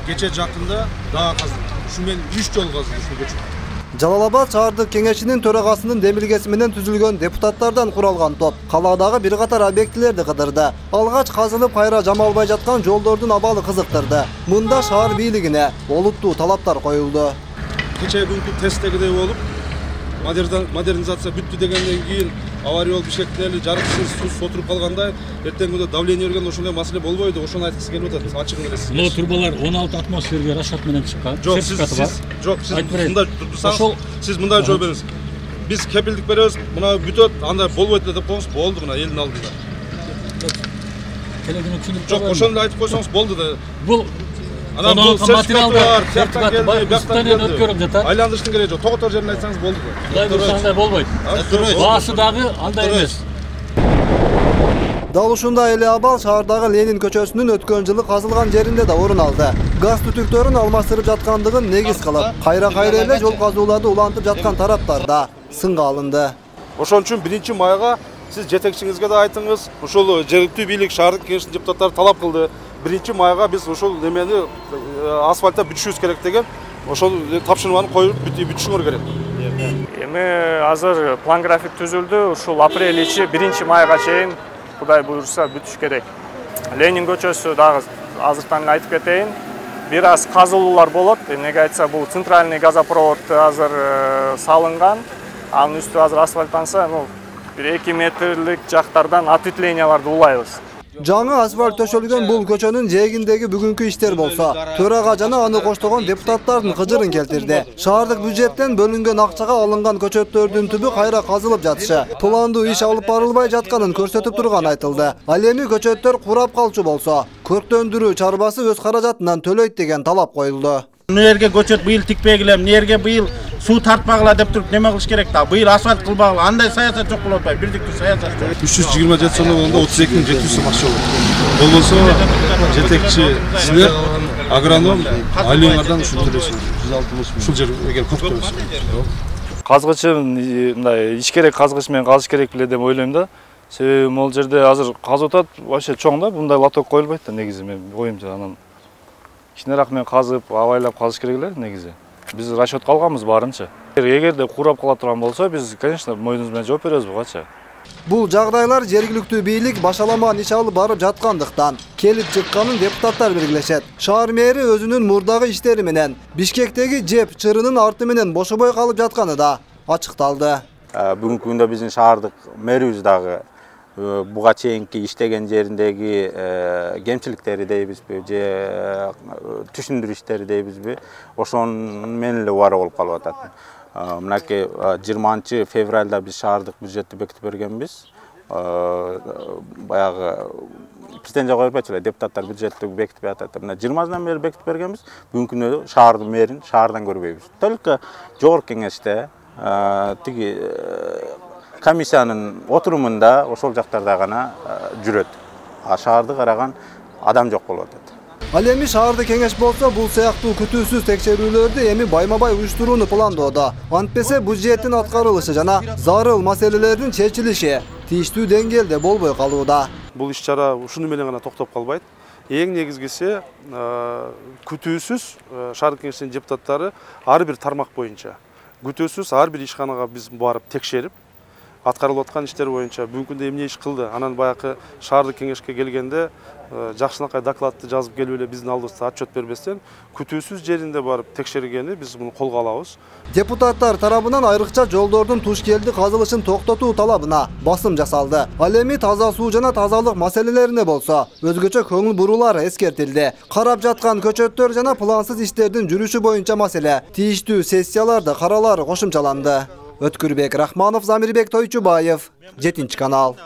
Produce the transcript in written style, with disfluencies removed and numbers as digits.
кече жакында дагы казылды. Ушу менен 3 жол казылды ушул көчө. Жалал-Абад шаардык кеңешинин төрагасынын демилгеси менен түзүлгөн депутаттардан куралган топ калаадагы бир катар объектилерди кыдырды. Алгач казылып кайра жамалбай жаткан жолдордун абалы кызыктырды. Мында шаар бийлигине олуттуу талаптар коюлду. Кече күнкү тесттегидей болуп, модернизация бүттү дегенден кийин авария болуп ишектери жарыксыз суу отуруп калгандай, эртеңки күндө давление бергенде ошондой маселе болбойду, ошону айткысы келип атат. Ачыгын эле сизге. Турбалар 16 атмосферге расчет менен чыккан. Сиз мындай жооп бериңиз. Биз кепилдик беребиз, мына бүтөт, андай болбойт деп коюңуз, болду мына элдин алдында. Жок, ошону айтып койсоңуз болду да. Бул анан бул материалдар өткөрүп жатат. Айландырыштын кереги жок. Тоготор жерин айтсаңыз болду. Кудай буйруса андай болбойт. Баасы дагы андай эмес. Дал ушундай эле абал шаардагы Ленин көчөсүнүн өткөн жылы казылган жеринде да орун алды. Газ түтүктөрүн алмаштырып жаткандыгын негиз кылып, кайра эле жол казууларды улантып жаткан тараптар да сынга алынды. Ошон үчүн 1-майга сиз жетекчиңизге да айтыңыз, ушул жергиликтүү бийлик шаардык кеңештин депутаттары талап кылды. 1-майга биз ошол немени асфальтта бүтүшүбүз керек деген ошол тапшырманы коюп бүтүшүңөр керек. Эми азыр план график түзүлдү. Ушул апрель ичи 1-майга чейин Кудай буйруса бүтүш керек. Ленин көчөсү дагы азыртан айтып кетейин. Бир аз казылуулар болот. Эмнеге айтса, бул центральный газопровод азыр салынган. Анын үстү азыр асфальттанса, бир 2 метрлик жактардан ответвленияларды улайбыз. Жаңы асфальт төшөлгөн бул көчөнүн жээгиндеги бүгүнкү иштер болсо, төрага жана аны коштогон депутаттардын кыжырын келтирди. Шаардык бюджеттен бөлүнгөн акчага алынган көчөттөрдүн түбү кайра казылып жатышы, пландуу иш алып барылбай жатканын көрсөтүп турган айтылды. Ал эми көчөттөр курап калчу болсо, көрктөндүрүү чарбасы өз каражатынан төлөйт деген талап коюлду. Эмне жерге көчөт быйыл тикпегиле, эмне жерге быйыл суу тартпагыла деп туруп неме кылыш керек да? Быйыл асфальт кылбагыла, андай саясат жок болуп атпайбы, бирдиктүү саясат. 327 сомдо болгондо 32.700 сом акча болот. Болбосо жетекчи силер агроном айлыгыңардан ушул төлөйсүңөр. Ушул жер эгер көп төлөсөң. Казгычын мындай иш керек, казгыч менен казыш керек беле деп ойлойм да. Себеби могул жерде азыр казып атат, вообще чоң да, мындай лоток коюлбайт да негизи, мен оюмча. Анан кичинерак менен казып, абайлап казыш керек эле негизи. Биз расчетко алганбыз баарынча. Эгерде курап кала турган болсо, биз, конечно, мойнубуз менен жооп беребиз буга. Бул жагдайлар жергиликтүү бийлик башаламан иш алып барып жаткандыктан келип чыкканын депутаттар белгилешет. Шаар мэри өзүнүн мурдагы иштери менен Бишкектеги жеп чырынын арты менен бошобой калып жатканы да ачыкталды. Бүгүнкү күндө биздин шаардык мэрибиз дагы буга чейинки иштеген жериндеги кемчиликтери дейбизби, же түшүндүрүү иштери дейбизби, ошонун менен эле убара болуп калып атат. Мынакей 20-февралда биз шаардык бюджетти бекитип бергенбиз. Баягы претензия коюп атчу эле, депутаттар бюджетти бекитип атат. Мына 20-дан бери бекитип бергенбиз. Бүгүнкү күндө шаардын мэрин шаардан көрбөйбүз. Только жогорку кеңеште тиги комиссиянын отурумунда ошол жактарда гана жүрөт. Шаарды караган адам жок болуп атат. Ал эми шаардык кеңеш болсо, бул сыяктуу күтүүсүз текшерүүлөрдү эми байма-бай уюштурууну пландоодо. Антпесе бюджеттин аткарылышы жана зарыл маселелердин чечилиши тийиштүү деңгээлде болбой калууда. Бул иш-чара ушуну менен гана токтоп калбайт. Эң негизгиси күтүүсүз шаардык кеңештин депутаттары ар бир тармак боюнча, күтүүсүз ар бир ишканага биз барып текшерип, аткарылып аткан иштер боюнча бүгүнкү күндө эмне иш кылды, анан баягы шаардык кеңешке келгенде жакшынакай докладты жазып келип эле биздин алдыбызда отчет бербестен, күтүүсүз жеринде барып текшергени биз муну колго алабыз. Депутаттар тарабынан айрыкча жолдордун Тушкелди казылышын токтотуу талабына басым жасалды. Ал эми таза суу жана тазалык маселелерине болсо, өзгөчө көңүл бурулар эскертилди. Карап жаткан көчөттөр жана плансыз иштердин жүрүшү боюнча маселе тийиштүү сессияларда каралары кошумчаланды. Өткүрбек Рахманов, Замирбек Тойчубаев, 7 канал.